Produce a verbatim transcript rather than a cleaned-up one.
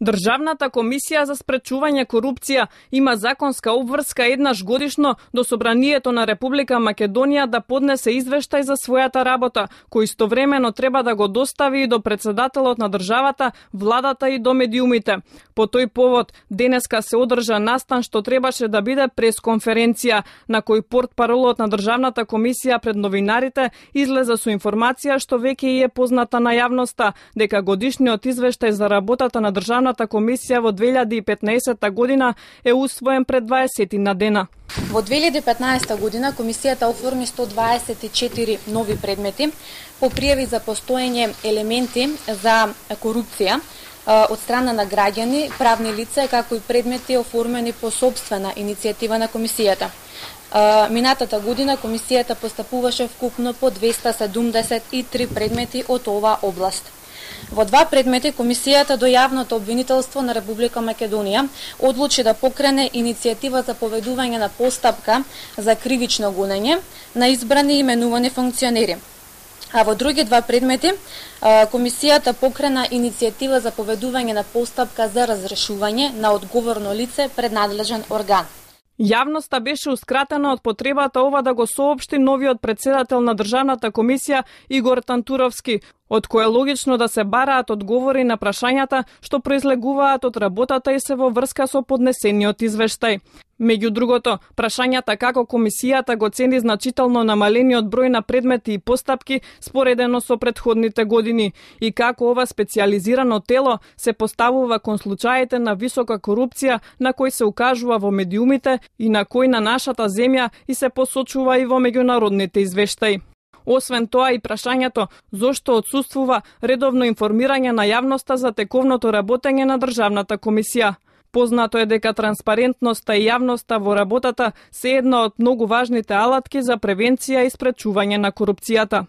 Државната комисија за спречување корупција има законска обврска еднаш годишно до Собранието на Република Македонија да поднесе извештај за својата работа, кој истовремено треба да го достави и до председателот на државата, владата и до медиумите. По тој повод, денеска се одржа настан што требаше да биде пресконференција, на кој портпаролот на Државната комисија пред новинарите излезе со информација што веќе и е позната на јавноста, дека годишниот извештај за работата на Државната комисија во две илјади и петнаесетта година е усвоен пред дваесет на дена. Во две илјади и петнаесетта година комисијата оформи сто дваесет и четири нови предмети по пријави за постоење елементи за корупција од страна на граѓани, правни лица, како и предмети оформени по сопствена иницијатива на комисијата. Минатата година комисијата постапуваше вкупно по двеста седумдесет и три предмети од оваа област. Во два предмети комисијата до јавното обвинителство на Република Македонија одлучи да покрене иницијатива за поведување на постапка за кривично гонење на избрани и именувани функционери. А во други два предмети комисијата покрена иницијатива за поведување на постапка за разрешување на одговорно лице пред надлежен орган. Јавноста бешеускратена од потребата ова да го соопшти новиот председател на Државната комисија Игор Тантуровски, од кој е логично да се бараат одговори на прашањата што произлегуваат од работата и се во врска со поднесениот извештај. Меѓу другото, прашањата како комисијата го цени значително намалениот број на предмети и постапки споредено со претходните години и како ова специјализирано тело се поставува кон случаите на висока корупција на кој се укажува во медиумите и на кој на нашата земја и се посочува и во меѓународните извештаи. Освен тоа и прашањето зошто отсуствува редовно информирање на јавноста за тековното работење на Државната комисија. Познато е дека транспарентноста и јавноста во работата се една од многу важните алатки за превенција и спречување на корупцијата.